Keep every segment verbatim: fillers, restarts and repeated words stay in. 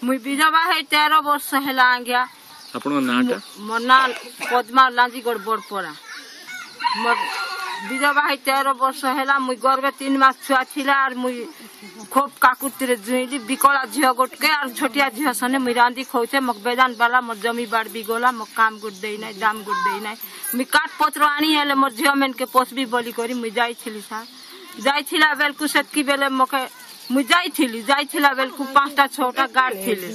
ମୁଇଁ ବିଧବା ହେଇ ତେର ବର୍ଷ ହେଲା ଆଜ୍ଞା। ଆପଣଙ୍କ ନାଁଟା? ମୋ ନାଁ ପଦ୍ମା ଲାଞ୍ଜିଗଡ଼ ବଡ଼ପଡ଼ା। ମୋର ବିଧବା ହେଇ ତେର ବର୍ଷ ହେଲା। ମୁଇଁ ଗର୍ଭେ ତିନି ମାସ ଛୁଆ ଥିଲା ଆର୍ ମୁଇଁ ଖୁବ୍ କାକୁତିରେ ଜୁଇଲି। ବିକଳା ଝିଅ ଗୋଟକେ ଆର୍ ଛୋଟିଆ ଝିଅ ସନେ ମୁଇଁ ରାନ୍ଧି ଖଉଛେ। মোক ବେଦାନ ବାଲା ମୋର୍ ଜମି ବାଡ଼ ବି ଗଲା, মোক କାମ ଗୁଟ ଦେଇ ନାଇଁ, ଦାମ ଗୁଟ ଦେଇ ନାଇଁ। ମୁଇଁ କାଠ ପତ୍ର ଆଣି ହେଲେ ମୋର୍ ଝିଅ ମାନକେ ପୋଷବି ବୋଲି କରି ମୁଇଁ ଯାଇଥିଲି ସାର୍। ଯାଇଥିଲା ବେଲକୁ ସେତ୍କି ବେଲେ ମକେ ମୁଇଁ ଯାଇଥିଲି, ଯାଇଥିଲା ବେଲକୁ ପାଞ୍ଚଟା ଛଅଟା ଗାର୍ଡ ଥିଲେ।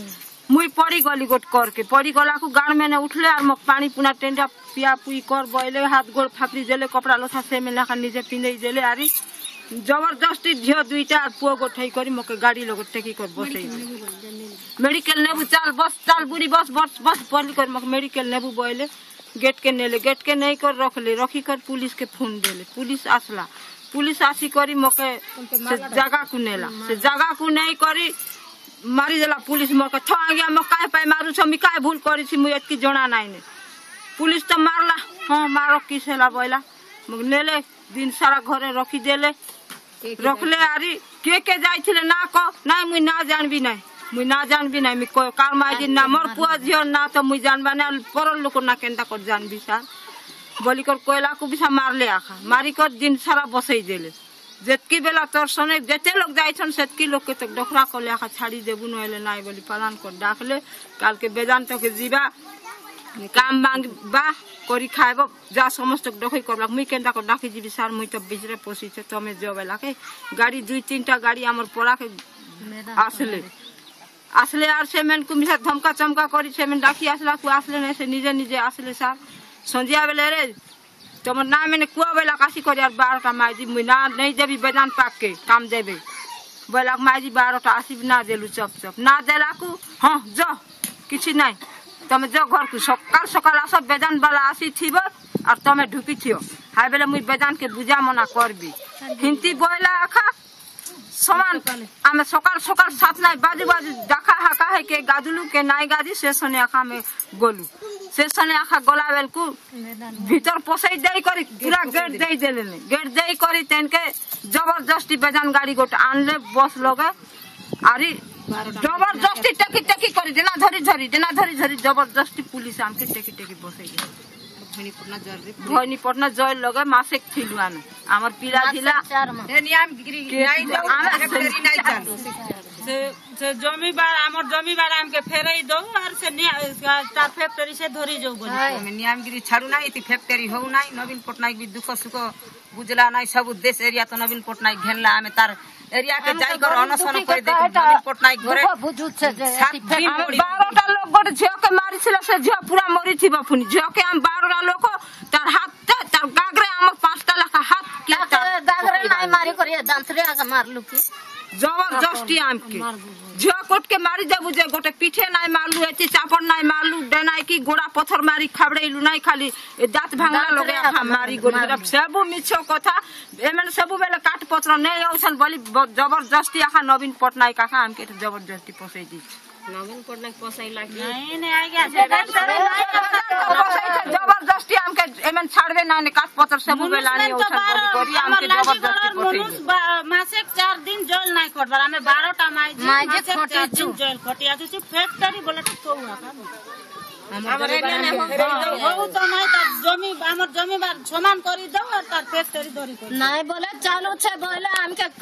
ମୁଇଁ ପଡିଗଲି ଗୋଟ କରକେ, ପଡିଗଲାକୁ ଗାର୍ଡ ମାନେ ଉଠଲେ ଆର୍ মোক ପାଣି ପୁଣା ଟେଣ୍ଡା ପିଆ ପୁଇ କର ବଇଲେ, ହାତ ଗୋଡ଼ ଫାପରି ଦେଲେ, କପଡ଼ା ଲଥା ସେ ଲେଖା ନିଜେ ପିନ୍ଧେଇ ଦେଲେ। ଆରି ଜବରଦସ୍ତି ଝିଅ ଦୁଇଟା ଆର୍ ପୁଅ ଗୋଠେଇ କରି ମକେ ଗାଡି ଲୋକ ଟେକି କରି ବସେଇ ମେଡିକାଲ ନେବୁ, ଚାଲ ବସ, ଚାଲ ବୁଢୀ ବସ ବସ ବସ ବୋଲି କରି ମକେ ମେଡିକାଲ ନେବୁ ବଇଲେ। ଗେଟ୍ କେ ନେଲେ, ଗେଟ୍ କେ ନେଇ କରି ରଖଲେ, ରଖି କରି ପୁଲିସ କେ ଫୋନ ଦେଲେ। ପୁଲିସ ଆସିଲା, ପୁଲିସ ଆସି କରି ମକେ ସେ ଜାଗାକୁ ନେଲା। ସେ ଜାଗାକୁ ନେଇ କରି ମାରିଦେଲା ପୁଲିସ ମକେ। ଥ ଆଜ୍ଞା, ମକେ କାहे ପାଇଁ ମାରୁଛ? ମୁଇଁ କାहे ଭୁଲ କରିଛି? ମୁଇଁ ଏତ୍କି ଜଣା ନାଇଁ ନେ। ପୁଲିସ ତ ମାରଲା, ହଁ ମାର, କିସ ହେଲା ବଇଲା। মোক ନେଲେ, ଦିନ ସାରା ଘରେ ରଖିଦେଲେ। ରଖଲେ ଆରି କିଏ କିଏ ଯାଇଥିଲେ ନା କହ। ନାଇଁ, ମୁଇଁ ନା ଜାଣବି ନାଇଁ, ମୁଇଁ ନା ଜାଣବି ନାଇଁ। ମୁଇଁ କାର ମାଇଜି ନା, ମୋର୍ ପୁଅ ଝିଅ ନା ତ ମୁଇଁ ଜାଣବା ନାଇଁ, ପରର ଲୋକ ନା କେନ୍ତା କରି ଜାଣବି ସାର୍ ବଲିକର କହିଲାକୁ ବି ମାରଲେ ଆଖା। ମାରିକର ଦିନ ସାରା ବସେଇ ଦେଲେ। ଯେତ୍କି ବେଲା ତୋର ସନେ ଯେତେ ଲୋକ ଯାଇଛନ୍ ସେତ୍କି ଲୋକ ତ ଡଖରା କଲେ ଆଖା, ଛାଡି ଦେବୁ ନହେଲେ ନାଇଁ ବୋଲି ପାଲାନ କରି ଡାକଲେ। କାଲକେ ବେଦାନ୍ତକେ ଯିବା, କାମ ମାଗବା କରି ଖାଇବ, ଯା ସମସ୍ତ ଡକେଇ କରଲା। ମୁଇଁ କେନ୍ତା କରି ଡାକି ଯିବି ସାର୍? ମୁଇଁ ତ ବିଚରେ ପଶିଛେ, ତମେ ଯ ବେଲାକେ ଗାଡି ଦୁଇ ତିନିଟା ଗାଡି ଆମର ପଡ଼ାକେ ଆସିଲେ। ଆସିଲେ ଆର୍ ସେମାନଙ୍କୁ ମିଶା ଧମକା ଚମକା କରି ସେମାନେ ଡାକି ଆସିଲାକୁ ଆସିଲେ ନାଇଁ, ସେ ନିଜେ ନିଜେ ଆସିଲେ ସାର୍। ସନ୍ଧ୍ୟା ବେଲେ ରେ ତମର ନା ମାନେ କୁଆ ବେଲା କାସି କରି ଆର୍ ବାରଟା ମାଇଜି ମୁଇଁ ନା ନେଇ ଦେବି, ବେଦାନ ପାକକେ କାମ ଦେବେ ବେଲା ମାଇଜି ବାରଟା ଆସିବି ନା ଦେଲୁ ଚପ ଚପ ନା ଦେଲାକୁ, ହଁ ଯ, କିଛି ନାଇଁ, ତମେ ଯ ଘରକୁ, ସକାଳ ସକାଳ ଆସ, ବେଦାନ ବାଲା ଆସିଥିବ ଆର୍ ତମେ ଢୁକିଥିବ, ହାଇ ବେଲେ ମୁଇଁ ବେଦାନକେ ବୁଝାମନା କରବି ହିନ୍ତି ବଇଲା ଆଖା। ସମାନ ଆମେ ସକାଳ ସକାଳ ସାତ ନାଇଁ ବାଜୁ ବାଜୁ ডাকা ହାକା ହେ କେ ଗାଧୁଲୁ କେ ନାଇଁ ଗାଧି, ସେ ସନେ ଆଖା ଆମେ ଗଲୁ। ସେ ସନେ ଆଖା ଗଲା ବେଳକୁ ଭିତର ପଶେଇ ଦେଇ କରି ପୁରା ଗେଟ୍ ଦେଇ ଦେଲେନି। ଗେଟ୍ ଦେଇ କରି ତେନକେ ଜବରଦସ୍ତି ବେଦାନ ଗାଡି ଗୋଟେ ଆଣିଲେ ବସ୍ ଲଗେ, ଆରି ଜବରଦସ୍ତି ଟେକି ଟେକି କରି ଡେନା ଧରି ଧରି ଡେନା ଧରି ଧରି ଜବରଦସ୍ତି ପୁଲିସ ଆମକେ ଟେକି ଟେକି ବସେଇ ଦେଲେ ଭବାନୀପଟନା ଜଏଲ ଲଗେ। ମାସେ ଥିଲୁ ଆମେ, ଆମର ପିଲା ଥିଲା। ସେ ସେ ଜମି ବାର, ଆମର ଜମି ବାର ଆମକେ ଫେରେଇ ଦଉ ଆର ସେ ତାର ଫ୍ୟାକ୍ଟରୀ ସେ ଧରି ଯାଉ ବୋଲି। ଆମେ ନିୟାମଗିରି ଛାଡୁ ନାହିଁ, ଏଠି ଫ୍ୟାକ୍ଟରୀ ହଉ ନାହିଁ। ନବୀନ ପଟ୍ଟନାୟକ ବି ଦୁଃଖ ସୁଖ ବୁଝଲା ନାହିଁ। ସବୁ ଦେଶ ଏରିଆ ତ ନବୀନ ପଟ୍ଟନାୟକ ଘେନଲା। ଆମେ ତାର ଏରିଆ କେ ଯାଇକର ଅନଶନ କରି ଦେଖୁ ନବୀନ ପଟ୍ଟନାୟକ ଘରେ ସାତ ଦିନ। ଆମେ ବାରଟା ଲୋକ ଗୋଟେ ଝିଅକେ ମାରିଥିଲା, ସେ ଝିଅ ପୁରା ମରିଥିବ। ପୁଣି ଝିଅକେ ଆମେ ବାରଟା ଲୋକ ତାର ହାତ ତାର ଗାଗରେ ଆମର ପାଞ୍ଚଟା ଲେଖା ହାତ କିଏ ଦାଗରେ ନାଇଁ ମାରି କରି ଦାନ୍ତରେ ଆଗ ମାରଲୁ କି ଜବରଦସ୍ତି ଆମକେ ଝିଅ କୋଟକେ ମାରି ଦେବୁ ଯେ ଗୋଟେ ପିଠେ ନାଇଁ ମାରଲୁ, ଏତି ଚାପड़ ନାଇଁ ମାରଲୁ, ଡେନାଇ କି ଗୋଡା ପଥର ମାରି ଖାବଡେଇଲୁ ନାଇଁ, ଖାଲି ଏ ଦାঁତ ଭାଙ୍ଗଲା ଲଗେ ଆଖା ମାରି ଗଲୁ। ସବୁ ମିଛ କଥା। ଏମାନେ ସବୁବେଳେ କାଠ ପତ୍ର ନେଇ ଆଉଛନ୍ ବୋଲି ଜବରଦସ୍ତି ଆଖା ନବୀନ ପଟ୍ଟନାୟକ ଆଖା ଆମକେ ଜବରଦସ୍ତି ପସେଇ ଦେଇছে। ନବୀନ ପଟ୍ଟନାୟକ ପସାଇଲା କି? ନାଇଁ ନାଇଁ ଆଜ୍ଞା, ଜବରଦସ୍ତି ଆମକେ ଏମାନେ ଛାଡବେ ନାଇଁ, କାଠ ପତ୍ର ସବୁବେଳେ ଆଣି ଆଉଛନ୍ ବୋଲି କରି ଆମକେ ଜବରଦସ୍ତି ପଠେଇ ମାସେ ଚାର ଦିନ ଜେଲ ନାଇଁ କଟବାର। ଆମେ ବାରଟା ମାଇଜି ମାଇଜି ମାସେ ଚାର ଖଟିଛୁ। ଦିନ ଜେଲ ଖଟି ଆସୁଛି। ଫ୍ୟାକ୍ଟରୀ ବୋଲେ ତ କହୁ ଆକା ହଉ ତ ନାଇଁ, ତାର ଜମି ଆମର ଜମି ବାର ସମାନ କରି ଦଉ ଆର ତାର ଫ୍ୟାକ୍ଟରୀ ଧରି କରି ନାଇଁ ବୋଲେ ଚାଲୁଛେ ବୋଇଲେ ଆମକେ।